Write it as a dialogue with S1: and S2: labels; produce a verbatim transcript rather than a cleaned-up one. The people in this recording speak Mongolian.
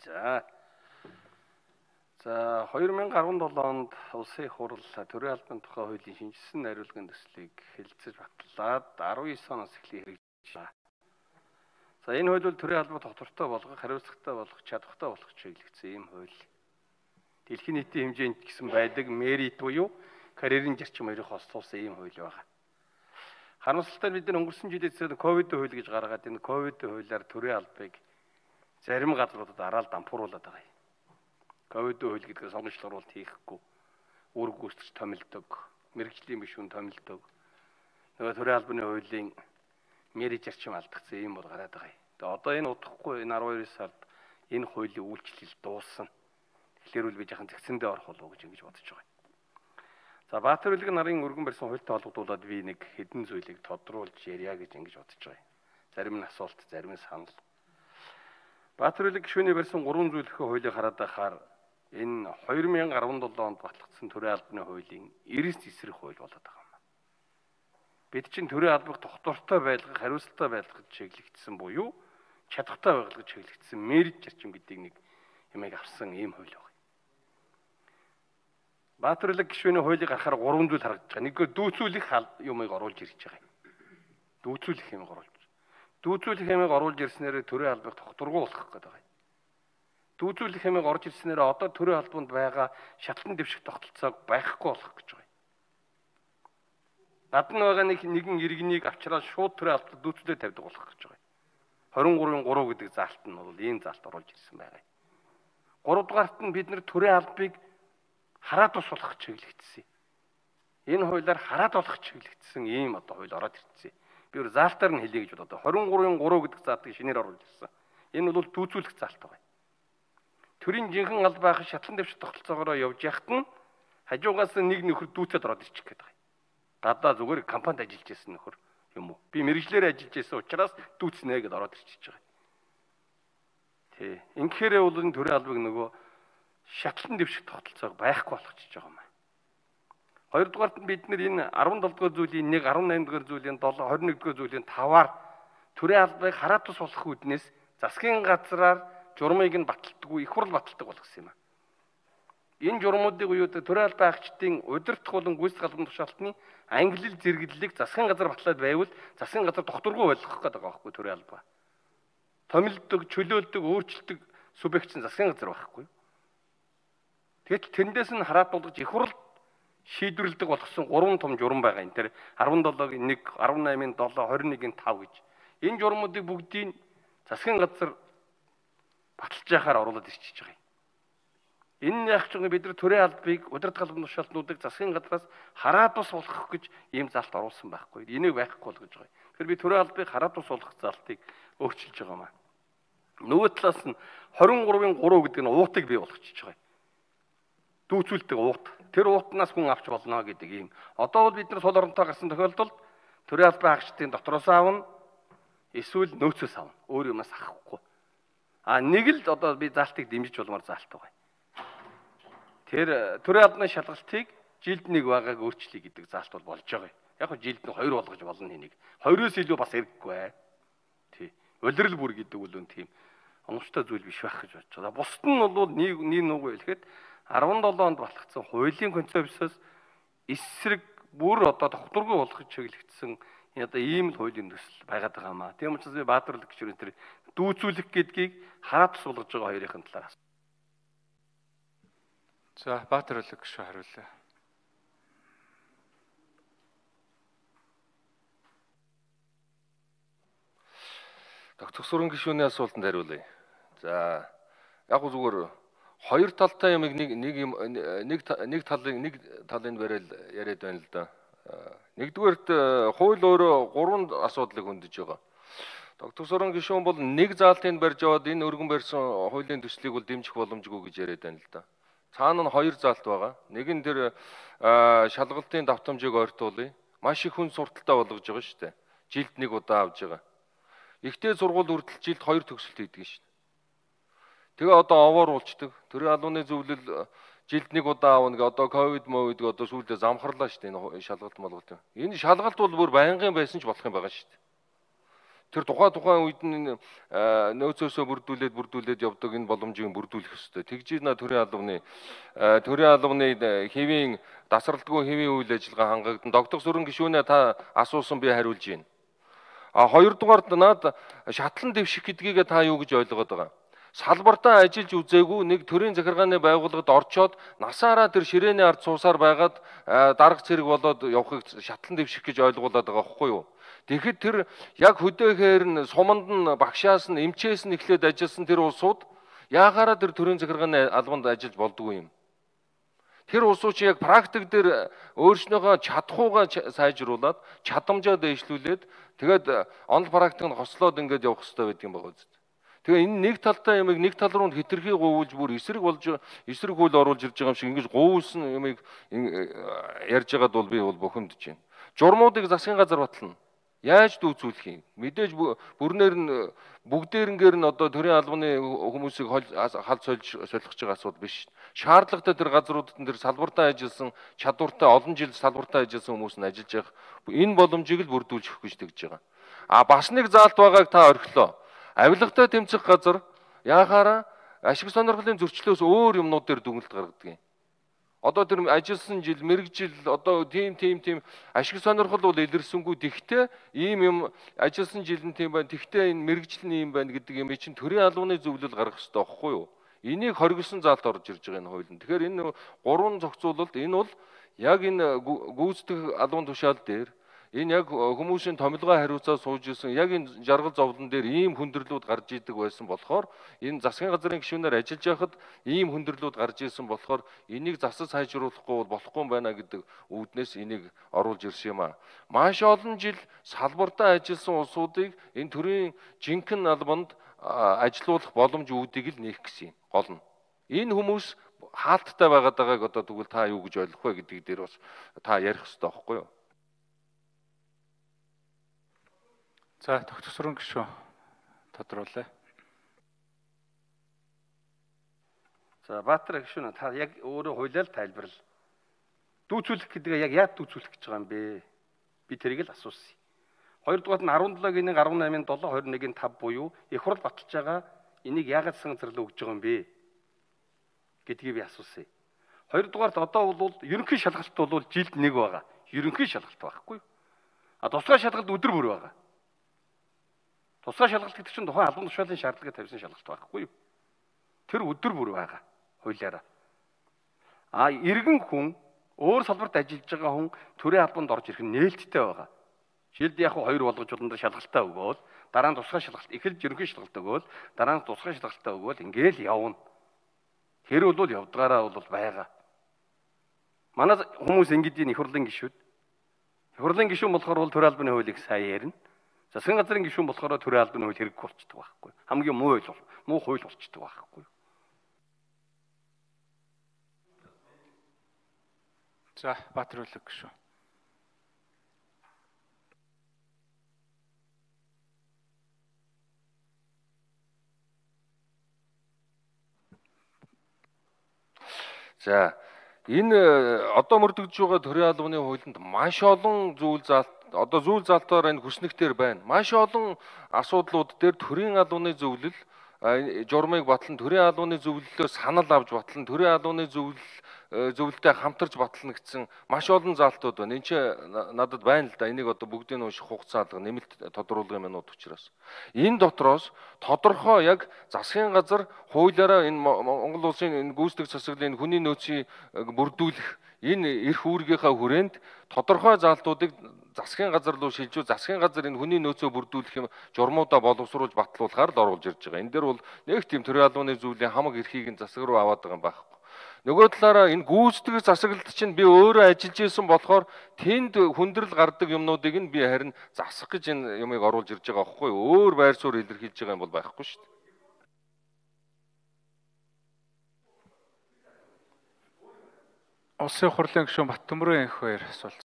S1: За. За хоёр мянга арван долоо онд улсын их хурал төрийн албаны тухай хуулийн шинжилсэн найруулгын төслийг хэлэлцэж батлаад арван девять оноос эхлэн хэрэгжиж байна. За энэ хууль бол төрийн албад тогтвортой болгох, хариуцлагатай болгох, чадвартай болгох чиглэгдсэн ийм хууль. Дэлхийн нийтийн хэмжээнд гэсэн байдаг мерит буюу карьерийн зарчим хоёрыг хослуулсан ийм хууль байна. Харамсалтай бид нар өнгөрсөн жилээс ковид хууль гэж гаргаад энэ ковид хуулиар төрийн албыг зарим газруудад араал дампууруулад байгаа юм. Ковид хууль гэдэг сонгогчдол оруулалт хийхгүй, үр гүйцэтгэж томилдог, мэрэгжлийн гишүүн томилдог. Нөгөө төрийн албаны хуулийн мерит зарчим алдагдсан юм бол гараад байгаа юм. Тэгээ одоо энэ удахгүй энэ арван хоёр сард энэ хуулийн үйлчлэл дуусна. Тэгэхээр үл би яхан зэгцэндээ орох болов уу гэж ингэж бодож байгаа. За Баатар үлгэн нарын өргөн барьсан хуультай холбогдуулаад би нэг хэдэн зүйлийг тодруулж ярья гэж ингэж бодож байгаа. Зарим нь асуулт, зарим нь санал. Баатар үлгэн гишүүний барьсан гурван зүйлийнхээ хуулийг хараад байхаар энэ хоёр мянга арван долоо онд батлагдсан төрийн албаны хуулийн эрс эсрэг хууль болоод байгаа юм. Бид чинь төрийн албыг тогтвортой байлгах, хариуцлагатай байлгах чиглэгдсэн буюу чадвартай байлгах чиглэгдсэн мерит зарчим гэдэг нэг юмыг авсан ийм хууль байна. Баатар үлгэн гишүүний хуулийг гарахаар гурван зүйл харагдаж байгаа. Нэггээр дүүцүүлэх юмыг оруулж ирж байгаа юм. Дүүцүүлэх юмыг оруулж. Дүүцүүлэх юмыг оруулж ирснээр төрийн албыг тогтворгүй болгох гэдэг байгаа юм. Дүүцүүлэх юмыг орж ирснээр одоо төрийн албанд байгаа шатлан дэвших тогтолцоог байхгүй болгох гэж байгаа юм. Гадна байгаа нэг нэгэн иргэнийг авчраад шууд төрийн албад дүүцүүлээ тавьдаг болох гэж байгаа юм. двадцать три-ын три гэдэг заалт нь бол ийм заалт оруулж ирсэн байгаа юм. гурав дугаарт нь бид нэр төрийн албыг хараад тус болох чиглэгдсэн. Энэ хуулиар хараад болох чиглэгдсэн ийм одоо хууль ороод ирсэн. Би өөр заалтаар нь хэлье гэж бодоод двадцать три-ын три гэдэг заалтыг шинээр оруулж ирсэн. Энэ бол дүүцүүлэх заалт байгаа. Төрийн жинхэнэ аль байх шатлан дэвших тогтолцоогоор явж яхад нь хажуугаас нэг нөхөр дүүцээд ороод ирчих гээд байгаа. Гадаа зүгээр компанид ажиллаж байсан нөхөр юм уу? Би мэрэгчлэр ажиллаж байсан учраас дүүцнэ гэдээ ороод ирчихэж байгаа. Тий. Ингэхээр бол энэ төрийн албыг нөгөө шатлан дэвших тогтолцоог байхгүй болгочихж байгаа юм аа. Хоёрдугаарт нь бид нэр энэ арван долоо дугаар зүйлийн нэг, арван найман дугаар зүйлийн долоо, двадцать нэг дугаар зүйлийн таваар төрийн албыг хараад тус болох үүднээс засгийн газраар журмыг нь баталдаггүй, их хурл баталдаг болгосон юм аа. Энэ журмуудыг уу төрийн албан агчдын удирдах болон гүйцэтгэх албан тушаалтны ангилал зэрэглэлийг засгийн газар батлаад байвал засгийн газар тогтворгүй болгох гэдэг байгаа байхгүй төрийн албаа. Томилдог, чөлөөлдөг, өөрчлөлдөг субъект чинь засгийн газар байхгүй. Тэгэд тэндээс нь хараад болгож их хурл шийдвэрлэдэг болгосон гурван том журам байгаа юм. Тэр арван долоогийн нэг, арван наймын долоо, двадцать нэгын тав гэж. Энэ журмуудыг бүгдийг засгийн газар баталж яхаар оруулаад ирчихэж байгаа юм. Энэ яг ч бид нар төрийн албыг удирдах албан тушаалтнуудыг засгийн газраас хараад тус болгох гэж ийм заалт оруулсан байхгүй. Энийг байхгүй болгож байгаа юм. Тэгэхээр би төрийн албыг хараад тус болгох заалтыг өөрчилж байгаа маа. Нөгөө талаас нь двадцать три-ын три гэдэг нь уутыг бий болгочихж байгаа юм. Дүүцүүлдэг уут. Тэр уутнаас хүн авч болно гэдэг ийм. Одоо бол бид нар сул оронтой гарсан тохиолдолд төрийн албан агчдын дотроос аавна эсвэл нөөцөөс аавна. Өөр юмас авахгүй. А нэг л одоо би заалтыг дэмжиж болмоор заалт байгаа. Тэр төрийн албаны шалгалтыг жилд нэг байгааг өөрчлөе гэдэг заалт бол болж байгаа. Яг хөө жилд нь хоёр болгож болно энийг. Хоёроос илүү бас хэрэггүй бай. Тий. Улирал бүр гэдэг үл үн тийм онгоцтой зүйл биш байх гэж бодож байгаа. Бусд нь бол нэг нэг нүгөө хэлэхэд арван долоо онд батлагдсан хуулийн концепцоос эсрэг бүр одоо тогтворгүй болгож чиглэгдсэн одоо ийм л хуулийн төсөл байгаад байгаа маа. Тийм учраас би Баатар үлгэн гишүүний тэр дүүцүүлэх гэдгийг хараад суулгаж байгаа хоёрын талаар.
S2: За Баатар үлгэн гишүү хариулъя.
S3: Доктор Сүрэн гишүүний асуултанд хариулъя. За яг гоо зүгээр хоёр талтай юмыг нэг нэг нэг нэг талын нэг талын барил яриад байна л да. Нэгдүгээрт хууль өөрөө гурван асуудлыг хөндөж байгаа. Доктор Сүрэн гишүүн бол нэг заалтыг барьж аваад энэ өргөн барьсан хуулийн төслийг бол дэмжих боломжгүй гэж яриад байна л да. Цаана нь хоёр заалт байгаа. Нэг нь тэр шалгалтын давтамжийг ойртуулъя. Маш их хүн сурталтай болгож байгаа шүү дээ. Жилд нэг удаа авж байгаа. Ихтэй сургууль хүртэл жилд хоёр төгсөлт хийдэг шүү дээ. Тэгээ одоо овоор уулцдаг. Төрийн албаны зөвлөл жилд нэг удаа аавна гэ одоо ковид мовид гэ одоо сүүлдээ замхарлаа шүү дээ энэ шалгалт молголт. Энэ шалгалт бол бүр байнгын байсан ч болох юм байгаа шүү дээ. Тэр тухай тухайн үед нь нөөцөөсөө бүрдүүлээд бүрдүүлээд явдаг энэ боломжийг бүрдүүлэх ёстой. Тэгж на төрийн албаны төрийн албаны хэвийн дасралтгүй хэвийн үйл ажиллагаа хангагдсан. Догдох сүрэн гишүүнээ та асуусан би хариулж байна. А хоёрдугаард наад шатлан дэвших гэдгийг та юу гэж ойлгоод байгаа? Салбартаа ажиллаж үзээгүй нэг төрийн захиргааны байгууллагад орчоод насаараа тэр ширээний ард суусаар байгаад дарга цэрэг болоод явахыг шатлан дэвших гэж ойлгуулад байгаа байхгүй юу? Тэгэхэд тэр яг хөдөөхээр нь суманд нь багшаас нь эмчээс нь эхлээд ажилласан тэр улсууд яагаараа тэр төрийн захиргааны албанд ажиллаж болдгүй юм. Тэр улсууд чи яг практик дээр өөрснөөхөө чадхуугаа сайжруулад чадамжаа дэвшлүүлээд тэгээд онл практик нь хослоод ингээд явах хэрэгтэй байдаг юм байна үст. Тэгээ энэ нэг талтай юмыг нэг тал руу хитрхи говуулж бүр эсрэг болж эсрэг хөл оруулж ирж байгаа юм шиг ингэж говуулсан юмыг ярьж байгаад бол би бол бохомдож байна. Журмуудыг засгийн газар батлна. Яаж дүүцүүлэх юм? Мэдээж бүрнээр нь бүгдээрнгээр нь одоо төрийн албаны хүмүүсийг халд солих гэж байгаа асуудал биш. Шаардлагатай тэр газруудад нь тэр салбартаа ажилласан чадвартай олон жил салбартаа ажилласан хүмүүс нь ажиллаж явах энэ боломжийг л бүрдүүлж өгөх гэж тэгж байгаа. А бас нэг заалт байгааг та орхилоо. Авилгатай тэмцэх газар яахаараа ашиг сонирхлын зөрчлөөс өөр юмнууд дээр дүгнэлт гаргадаг юм. Одоо тэр ажилласан жил, мэрэгжил одоо тийм тийм тийм ашиг сонирхол бол илэрсэнгүй. Тэгтээ ийм юм ажилласан жил нь тийм байна. Тэгтээ энэ мэрэгжил нь ийм байна гэдэг юм чинь төрийн албаны зөвлөл гаргах хэрэгтэй байхгүй юу? Энийг хоригдсон заалт орж ирж байгаа энэ хуулинд. Тэгэхээр энэ гурван зохицуулалт энэ бол яг энэ гүйцэтгэх албан тушаал дээр энэ яг хүмүүсийн томилгоо хариуцаад сууж исэн яг энэ жаргал зовлон дээр ийм хүндрэлүүд гарч идэг байсан болохоор энэ засгийн газрын гишүүнээр ажиллаж байхад ийм хүндрэлүүд гарч исэн болохоор энийг засаж сайжруулахгүй болохгүй юм байна гэдэг үүднээс энийг оруулж ирсэн юм а. Маш олон жил салбартаа ажилласан улсуудыг энэ төрийн жинхэнэ албанд ажилуулах боломж үүдийг л нээх гэсэн юм гол нь. Энэ хүмүүс хаалттай байгаад байгааг одоо тэгвэл та юу гэж ойлгох вэ гэдэг дээр бас та ярих хэрэгтэй байхгүй юу?
S2: За тогтсорон гишүүн тодруулъя.
S1: За Баатар гишүүн та яг өөрөө хуулиар тайлбарл. Дүүцүүлэх гэдгээ яг яад дүүцүүлэх гэж байгаа юм бэ? Би тэрийг л асуусан. Хоёрдугаар нь арван долоогийн нэг, арван наймын долоо, хорин нэгний тав буюу их хурл баталж байгаа энийг яагаад санзарлаа өгж байгаа юм бэ гэдгийг би асуусан. Хоёрдугаарт одоо бол ерөнхий шалгалт бол жилд нэг байгаа. Ерөнхий шалгалт байхгүй. А тусгай шалгалт өдөр бүр байгаа. Тусгай шалгалт гэдэг чинь тухайн албан тушаалын шаардлагыг тавьсан шалгалт байхгүй юу? Тэр өдөр бүр байгаа хуулиараа. А иргэн хүн өөр салбарт ажиллаж байгаа хүн төрийн албанд орж ирэх нь нээлттэй байгаа. Жилд яг хоёр болгож улам шалгалтаа өгөөл, дараа нь тусгай шалгалт, эхэлж ерөнхий шалгалт өгөөл, дараа нь тусгай шалгалтаа өгөөл ингээл явна. Тэр бол явдгаараа бол байгаа. Манай хүмүүс ингэдийн их хурлын гишүүд. Их хурлын гишүүн болохоор бол төрийн албаны хуулийг сайн ярина. Засгийн газрын гишүүн болохоор төрийн албаны хууль хэрэггүй болчихдог байхгүй. Хамгийн муу хууль, муу хууль болчихдог байхгүй.
S2: За Баатар үлэг гишүүн.
S3: За энэ одоо мөрдөгдөж байгаа төрийн албаны хуулинд маш олон зүйл заалт одоо зүйл заалтаар энэ хүснэгтэр байна. Маш олон асуудлууд дээр төрийн албаны зөвлөл журмыг батлан төрийн албаны зөвлөлөө санал авч батлан төрийн албаны зөвлөл зөвлөлтэй хамтарч батлана гэсэн маш олон заалтууд байна. Энд чи надад байна л да. Энийг одоо бүгдийг нь унших хугацаа алга нэмэлт тодруулгын минут учраас. Энэ дотроос тодорхой яг засгийн газар хуулиараа энэ Монгол улсын энэ гүйцэтгэх засаглалын хүний нөөцийг бүрдүүлэх энэ эрх үүргийнхаа хүрээнд тодорхой заалтуудыг засгийн газар руу шилжүү засгийн газар энэ хүний нөөцөө бүрдүүлэх юм журмуудаа боловсруулж батлуулахаар л оруулж ирж байгаа. Энэ дээр бол нэг тийм төрийн албаны зүйлийн хамаг эрхийг нь засаг руу аваад байгаа юм байхгүй. Нөгөө талаараа энэ гүйцэтгэх засаглалт чинь би өөрөө ажиллаж исэн болохоор тэнд хүндрэл гардаг юмнуудыг нь би харин засах гэж энэ юмыг оруулж ирж байгаа байхгүй юу? Өөр байр суурь илэрхийлж байгаа юм бол байхгүй шүү дээ.
S2: Улсын хурлын гишүүн Баттөмрөн энх хоёр асуулт.